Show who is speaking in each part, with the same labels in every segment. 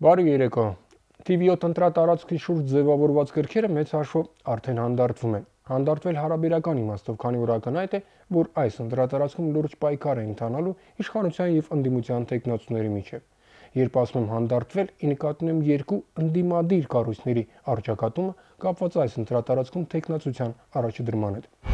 Speaker 1: Բարի երեկո։ TV7 ընտրատարածքի շուրջ ձևավորված գրքերը մեծ հաշվով արդեն հանդարտվում են։ Հանդարտվել հարաբերական իմաստով, քանի որ ակնհայտ է, որ այս ընտրատարածքում լուրջ պայքար է ընթանալու իշխանության եւ ընդդիմության տեխնացուների միջև։ Երբ ասում եմ հանդարտվել, ի նկատի ունեմ երկու ընդդիմադիր կառույցների առճակատումը կապված այս ընտրատարածքում տեխնացության առաջադրման հետ։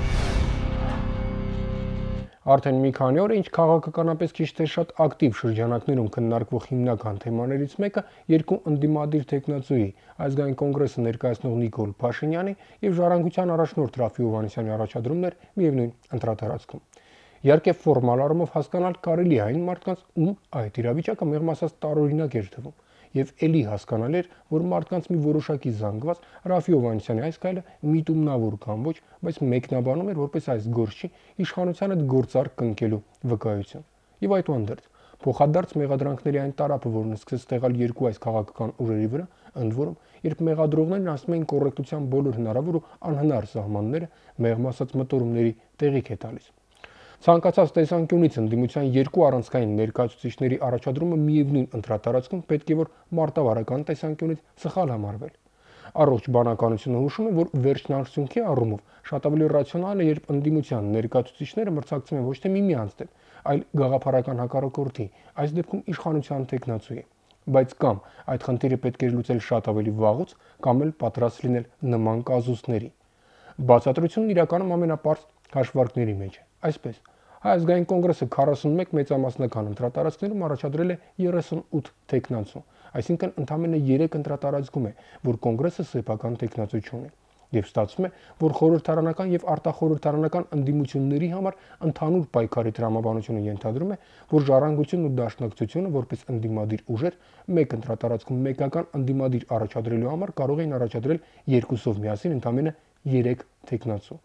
Speaker 1: Արդեն մի քանի օր է, ինչ քաղաքականապես քիչ թե շատ ակտիվ շրջանակներում քննարկվող հիմնական թեմաներից մեկը երկու ընդդիմադիր տեխնացուի ազգային կոնգրեսը ներկայացնող Նիկոլ Փաշինյանի եւ Ժառանգության առաջնորդ Ռաֆի Հովհաննիսյանի առաջադրումն էր միևնույն ընտրատարածքում։ Իհարկե ֆորմալ առումով հասկանալ կարելի է այն մարդկանց, ում այդ իրավիճակը մեղմ ասած տարօրինակ էր թվում, եւ ելի հասկանալ էր, որ մարդկանց մի որոշակի զանգված Ռաֆի Հովհաննիսյանի այս քայլը միտումնավոր կամ ոչ, բայց մեկնաբանում էր որպես այս գործի իշխանության հետ գործարք կնքելու վկայություն։ Եվ այդուհանդերձ փոխադարձ մեղադրանքների այն տարափը, որն սկսեց տեղալ երկու այս քաղաքական ուժերի վրա, ընդ որում, երբ մեղադրողներն ասում էին կոռեկտության բոլոր հնարավոր ու անհնար սահմանները մեղմ ասած մտորումների տեղիք է տալիս։ Ցանկացած տեսանկյունից ընդդիմության երկու առանցքային ներկայացուցիչների առաջադրումը միևնույն ընտրատարածքում պետք է որ մարտավարական տեսանկյունից սխալ համարվել։ Առողջ բանականությունը հուշում է, որ վերջնարդյունքի առումով շատ ավելի ռացիոնալ է, երբ ընդդիմության ներկայացուցիչները մրցակցում են ոչ թե միմյանց դեմ, այլ գաղափարական հակառակորդի, այս դեպքում իշխանության տեխնացուի։ Բայց կամ այդ խնդիրը պետք է լուծել շատ ավելի վաղուց, կամ էլ պատրաստ լինել նման կազուսների։ Բացատրությունն իրականում ամենապարզ հաշվարկների մեջ է։ Այսպես, Հայ ազգային կոնգրեսը 41 մեծամասնական ընտրատարածքներում առաջադրել է 38 տեխնացու, այսինքն ընդամենը 3 ընտրատարածքում է, որ կոնգրեսը սեփական տեխնացու չունի։ Եվ ստացվում է, որ խորհրդարանական եւ արտախորհրդարանական ընդդիմությունների համար ընդհանուր պայքարի տրամաբանությունը ենթադրում է, որ Ժառանգությունն ու Դաշնակցությունը որպես ընդդիմադիր ուժեր մեկ ընտրատարածքում մեկական ընդդիմադիր առաջադրելու համար կարող էին առաջադրել երկուսով միասին ընդամենը 3 տեխնացու։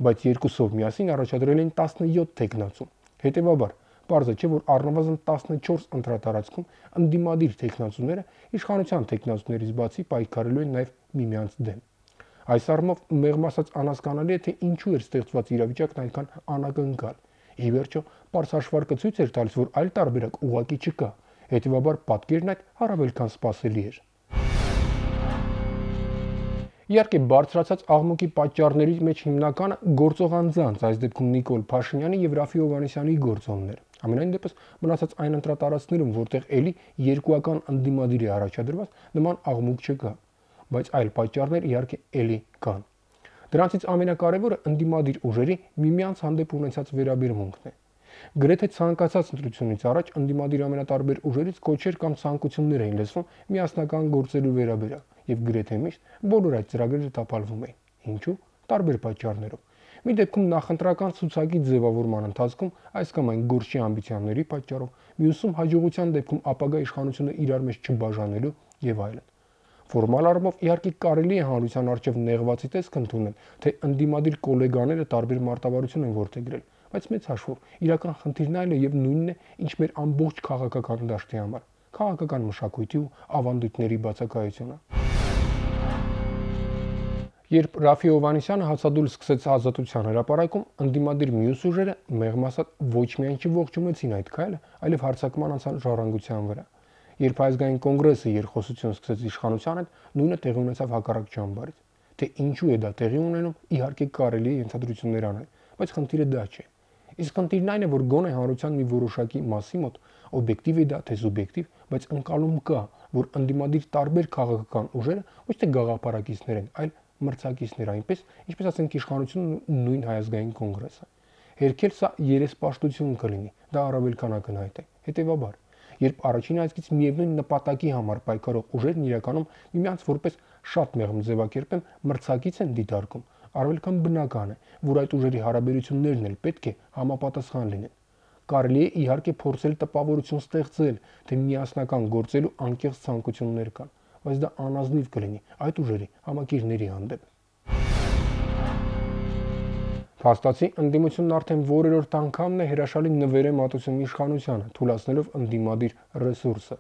Speaker 1: Բայց երկուսով միասին առաջադրել են 17 տեխնացու։ Հետևաբար, պարզ է, չէ, որ առնվազն 14 ընտրատարածքում ընդդիմադիր տեխնացուները իշխանության տեխնացուներից բացի պայքարելու են նաև միմյանց դեմ։ Այս առումով մեղմ ասած անհասկանալի է, թե ինչու էր ստեղծված իրավիճակն այնքան անակնկալ։ Ի վերջո, պարզ հաշվարկը ցույց էր տալիս, որ այլ տարբերակ ուղղակի չկա։ Հետևաբար, պատկերն այդ առավել քան սպասելի էր։ Իհարկե, բարձրացած աղմուկի պատճառների մեջ հիմնականը գործող անձանց, այս դեպքում Նիկոլ Փաշինյանի եւ Ռաֆի Հովհաննիսյանի գործոնն էր։ Ամենայն դեպս մնացած այն ընտրատարածքներում, որտեղ էլի երկուական ընդդիմադիր է առաջադրված, նման աղմուկ չկա, բայց այլ պատճառներ իհարկե էլի կան։ Դրանցից ամենակարևորը ընդդիմադիր ուժերի միմյանց հանդեպ ունեցած վերաբերմունքն է։ Գրեթե ցանկացած ընտրությունից առաջ ընդդիմադիր ամենատարբեր ուժերից կոչեր կամ ցանկություններ էին լսվում միասնական գործելու վերաբերյալ, եւ գրեթե միշտ բոլոր այդ ծրագրերը տապալվում էին։ Ինչու՞։ Տարբեր պատճառներով։ Մի դեպքում նախընտրական ցուցակի ձևավորման ընթացքում այս կամ այն գործի ամբիցիաների պատճառով, մյուսում հաջողության դեպքում ապագա իշխանությունը իրար մեջ չբաժանելու եւ այլն։ Ֆորմալ առումով իհարկե կարելի է հանրության առջև նեղվածի տեսք ընդունել, թե ընդդիմադիր գոլեգաները տարբեր մարտավարություն են որդեգրել, բայց մեծ հաշվով իրական խնդիրն այլ է եւ նույնն է, ինչ մեր ամբողջ քաղաքական դաշտի համար, քաղաքական մշակույթի ու ավանդույթների բացակայությունը։ Երբ Ռաֆի Հովհաննիսյանը հացադուլ սկսեց ազատության հրապարակում, ընդդիմադիր մյուս ուժերը մեղմ ասած ոչ միայն չողջունեցին այդ քայլը, այլև հարձակման անցան Ժառանգության վրա։ Երբ ազգային կոնգրեսը երկխոսություն սկսեց իշխանության հետ, նույնը տեղի ունեցավ հակառակ ճամբարից։ Թե ինչու է դա տեղի ունենում, իհարկե կարելի է ենթադրություններ անել, բայց խնդիրը դա չէ։ Իսկ խնդիրն այն է, որ գոնե հանրության մի որոշակի մասի մոտ օբյեկտիվ է դա թե սուբյեկտիվ, բայց ընկալում կա, որ ընդդիմադիր տարբեր քաղաքական ուժերը ոչ թե գաղափարակիցներ են, այլ մրցակիցներ, այնպես, ինչպես ասենք իշխանությունն ու նույն Հայ ազգային կոնգրեսը։ Հերքել սա երեսպաշտություն կլինի, դա առավել քան ակնհայտ է։ Հետևաբար, երբ առաջին այսքից միևնույն նպատակի համար պայքարող ուժերն իրականում միմյանց որպես շատ մեղմ ձևակերպեն մրցակից են դիտարկում, առավել քան բնական է, որ այդ ուժերի հարաբերություններն էլ պետք է համապատասխան լինեն։ Կարելի է իհարկե փորձել տպավորություն ստեղծել, թե միասնական գործելու անկեղծ ցանկություններ կան, բայց դա անազնիվ կլինի այդ ուժերի համակիրների հանդեպ։ Փաստացի ընդդիմությունն արդեն որերորդ անգամն է հրաշալի նվեր է մատուցում իշխանությանը, թույլատնելով ընդդիմադիր ռեսուրսը։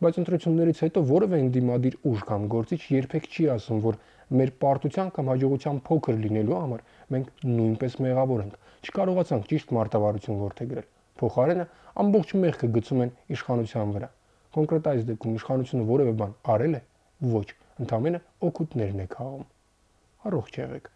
Speaker 1: Բայց ընտրություններից հետո որևէ ընդդիմադիր ուժ կամ գործիչ երբեք չի ասում, որ մեր պարտության կամ հաջողության փոքր լինելու համար մենք նույնպես մեղավոր ենք, չկարողացանք ճիշտ մարտավարություն որդեգրել։ Փոխարենը ամբողջ մեղքը գցում են իշխանության վրա։ Կոնկրետ այս դեպքում իշխանությունը որևէ բան արել է։ Ոչ, ընդամենը օգուտներն է քաղում։ Առողջ եղեք։